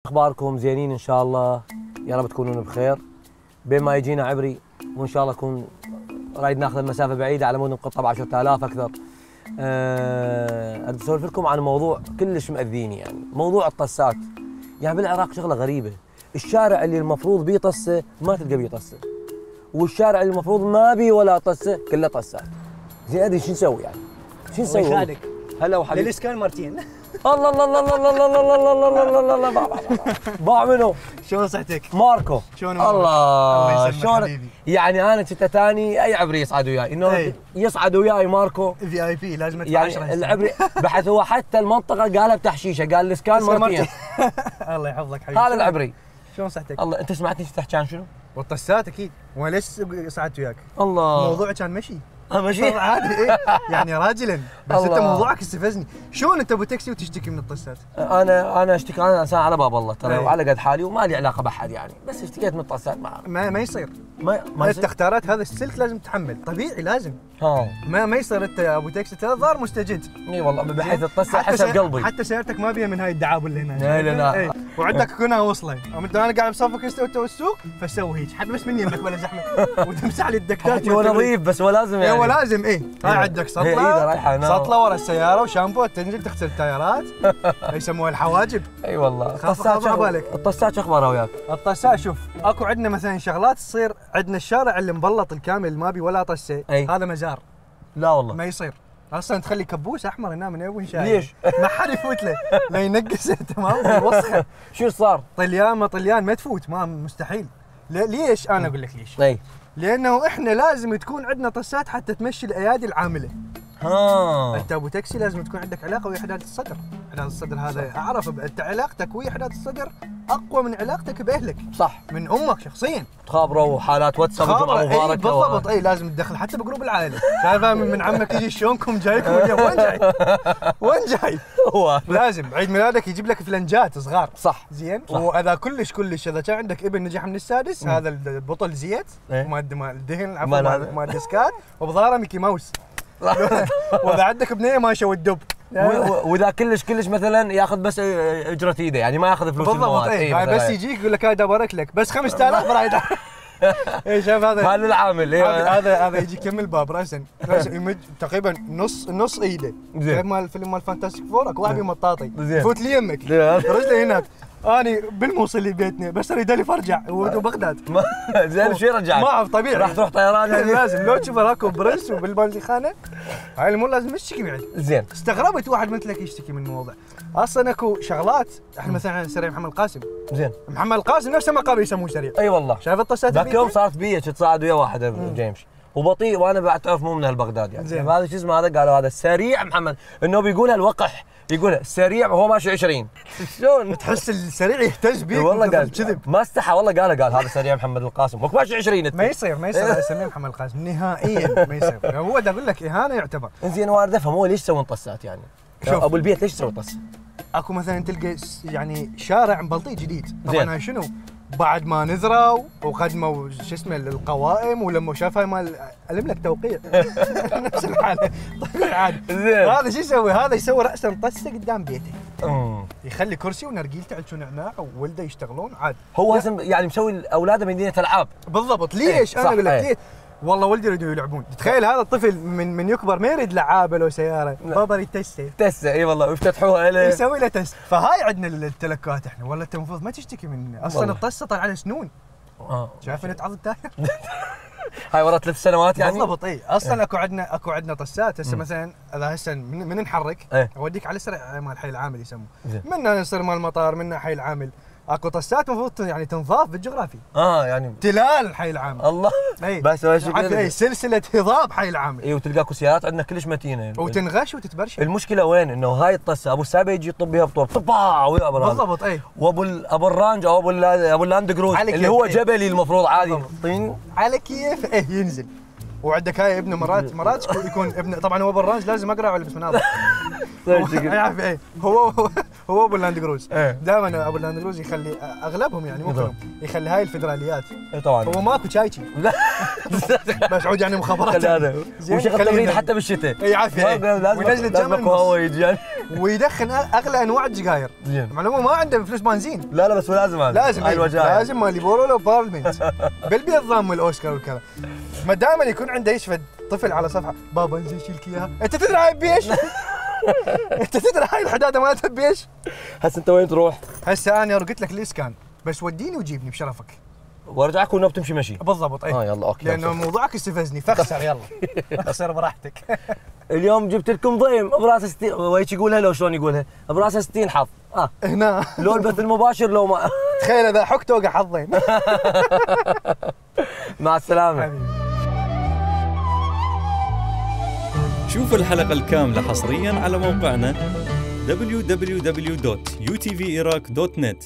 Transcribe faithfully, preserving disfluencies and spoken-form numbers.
اخباركم زينين ان شاء الله، يا رب تكونون بخير. بين ما يجينا عبري وان شاء الله نكون رايد ناخذ المسافه بعيده على مود نقطه ب عشرة آلاف اكثر. أه اسولف لكم عن موضوع كلش مأذيني، يعني موضوع الطسات. يعني بالعراق شغله غريبه، الشارع اللي المفروض بيه طسه ما تلقى بيه طسه، والشارع اللي المفروض ما بيه ولا طسه كله طسات. زين ادري شو نسوي يعني؟ شو نسوي؟ الله يخليك. هلا وحبيبي. للاسكان مرتين. الله الله الله الله الله الله الله الله الله الله الله الله باع منو؟ شلون صحتك؟ ماركو. شلون الله شلون؟ يعني انا كنت ثاني اي عبري يصعد وياي، انه يصعد وياي ماركو في اي بي لازم ادفع يعني عشرة. العبري بحيث هو حتى المنطقه قالها بتحشيشه، قال الاسكان مرتين. الله يحفظك حبيبي. هذا العبري. شلون صحتك؟ الله انت سمعتني تحكي عن شنو؟ والطسات اكيد، وليش صعدت وياك؟ الله الموضوع كان مشي. اه مشي عادي ايه يعني راجلا، بس انت موضوعك استفزني. شلون انت ابو تاكسي وتشتكي من الطسات؟ انا انا اشتكي، انا انسان على باب الله ترى، أيه. وعلى قد حالي وما لي علاقه باحد يعني، بس اشتكيت من الطسات. ما ما, ما يصير. ما ما انت اختارت هذا السلك لازم تتحمل، طبيعي لازم. ها ما ما يصير انت يا ابو تاكسي ترى ظاهر مستجد. اي والله بحيث الطسه حتى حسب قلبي. حتى سيارتك ما بيها من هاي الدعابه اللي هنا. لا لا لا. ايه. وعندك كونها وصله، انت انا قاعد بصفك انت والسوق فسوي هيك، حتى بس من يمك ولا زحمه وتمسح لي الدكتات. هو نظيف بس هو لازم يعني. هو لازم ايه. هاي عندك سطله سطله ورا السياره وشامبو، تنزل تغسل التايرات. يسموها الحواجب. اي والله. الطسات شو بالك؟ الطسات شو اخبارها وياك؟ الطسات شوف، اكو عندنا مثلا شغلات تصير عندنا الشارع اللي مبلط الكامل ما بي ولا طسه، هذا مزار. لا والله ما يصير. اصلا تخلي كبوس احمر هنا من وين شايف؟ ليش؟ ما حد يفوت له، لا ينقصه تمام وسخه. شو صار؟ طليان ما طليان ما تفوت، ما مستحيل. ليش؟ انا اقول لك ليش. اي لانه احنا لازم تكون عندنا طسات حتى تمشي الايادي العامله. ها انت ابو تاكسي لازم تكون عندك علاقه ويا حداد الصدر. حداد الصدر هذا اعرف، انت علاقتك ويا حداد الصدر اقوى من علاقتك باهلك. صح. من امك شخصيا. تخابروا حالات واتساب وجمعه مباركه. اي بالضبط. اي لازم تدخل حتى بجروب العائله. شايفه من عمك يجي شلونكم جايكم اليوم؟ وين جاي؟ وين جاي؟ هو لازم عيد ميلادك يجيب لك فلنجات صغار. صح. زين. واذا كلش كلش اذا كان عندك ابن نجح من السادس، م. هذا البطل زيت مال مال الدهن عفوا مال مال الديسكات، وبظهره ميكي ماوس. واذا عندك بنيه ماشيه والدب. واذا كلش كلش مثلا ياخذ بس اجره ايده، يعني ما ياخذ فلوس المواد. اي بس يجيك يقول لك هاي دبرك لك بس خمسة آلاف رايد. اي شايف هذا هذا العامل. هذا هذا يجي يكمل باب راسا يمد تقريبا نص نص ايده. غير مال فيلم مال فانتاستيك فور، اكو واحد مطاطي يفوت لي يمك رجله هناك. اني بالموصل لبيتنا بس اريد الف ارجع وبغداد. زين شو رجعت؟ ما اعرف طبيعي راح تروح طيران يعني. لازم لو تشوفه راكب برنس وبالبنزيخانه هاي الامور لازم تشتكي بعد. زين استغربت واحد مثلك يشتكي من الموضوع. اصلا اكو شغلات احنا مثلا سريع محمد القاسم. زين محمد القاسم نفسه ما قابل يسموه سريع. اي والله. شايف الطسات ذاك يوم صارت بي تصعد ويا واحد جيمس وبطيء، وانا بعد تعرف مو من هالبغداد يعني. هذا شو اسمه هذا؟ قالوا هذا سريع محمد، انه بيقولها الوقح، يقولها سريع وهو ماشي عشرين. شلون تحس السريع يهتز بيك؟ والله قال كذب، ما استحى والله. قال قال هذا سريع محمد القاسم، هو ماشي عشرين. ما يصير ما يصير يسميه محمد القاسم نهائيا، ما يصير. هو دا اقول لك اهانه يعتبر. زين وانا افهم هو ليش يسوون طسات يعني؟ شوف ابو البيت ليش يسوي طسه؟ اكو مثلا تلقى يعني شارع مبلطي جديد، طبعا شنو؟ بعد ما نذروا وقدموا شو اسمه القوائم، ولما شافها مال الم لك توقيع نفس الحاله. طيب عادي. هذا شو يسوي؟ هذا يسوي راسا طسه قدام بيته. امم يخلي كرسي ونرجيلته على نعناع وولده يشتغلون عادي. هو يعني مسوي اولاده مدينه العاب. بالضبط. ليش؟ انا اقول لك ليش؟ والله ولدي يريدوا يلعبون. تخيل هذا الطفل من من يكبر ما يريد لعابه لو سياره، بابا يريد تسه. تسه اي والله، ويفتتحوها له يسوي له تسه. فهاي عندنا التلكات احنا. والله انت المفروض ما تشتكي من اصلا الطسه طالعه على سنون. اه شايف انها تعض التاير. هاي ورا ثلاث سنوات يعني. بالضبط. اي اصلا اكو عندنا اكو عندنا طسات. هسه مثلا اذا هسه من, من نحرك ايه؟ اوديك على سرع مال حي العامل يسموه، منا يصير مال المطار، منا حي العامل. اكو طسات المفروض يعني تنضاف بالجغرافي. اه يعني تلال حي العامل. الله. اي بس اي سلسله هضاب حي العامل. اي وتلقاكو سيارات عندنا كلش متينه يعني. وتنغش وتتبرشل. المشكله وين؟ انه هاي الطسه ابو السابع يجي يطب بها بطور طباع ويا بالضبط. اي وابو ابو الرانج او ابو ابو اللاند كروز اللي هو جبلي المفروض عادي طين على كيف ايه ينزل. وعندك هاي ابن مرات مرات يكون ابن، طبعا هو ابو الرانج لازم اقرا ولا بس مناظر. يعرف ايه هو هو ابو اللاند كروز. دائما ابو اللاند كروز يخلي اغلبهم يعني مو كلهم يخلي هاي الفدراليات. اي طبعا هو ماكو تشايشي. لا بس عود يعني مخابرات. هذا وشغل تمرين حتى بالشتاء. اي عافيه. وينزل الجمل هو يجي يعني ويدخن اغلى انواع السجاير. زين. معلومه ما عنده فلوس بنزين. لا لا بس هو لازم هذا. لازم هاي الوجاهه. لازم مالي بورولو بارلمنت بالبيض ضام الاوسكار والكذا. ما دائما يكون عنده يشفد طفل على صفحه بابا انزين شيلك اياها. انت تدري هاي بيش؟ انت تدري هاي الحداده مالتها بيش؟ هسه انت وين تروح؟ هسه انا رقت لك الاسكان بس وديني وجيبني بشرفك. وارجعك ونوب تمشي مشي. بالضبط اي. اه يلا اوكي. لانه موضوعك استفزني فاخسر يلا. اخسر براحتك. اليوم جبت لكم ضيم براسه ستين ويش يقولها لو شلون يقولها؟ براسه ستين حظ. اه هنا لو البث المباشر لو ما تخيل اذا حكت وقع حظين. مع السلامه. شوف الحلقة الكاملة حصرياً على موقعنا دبليو دبليو دبليو دوت يو تي في إيراك دوت نت.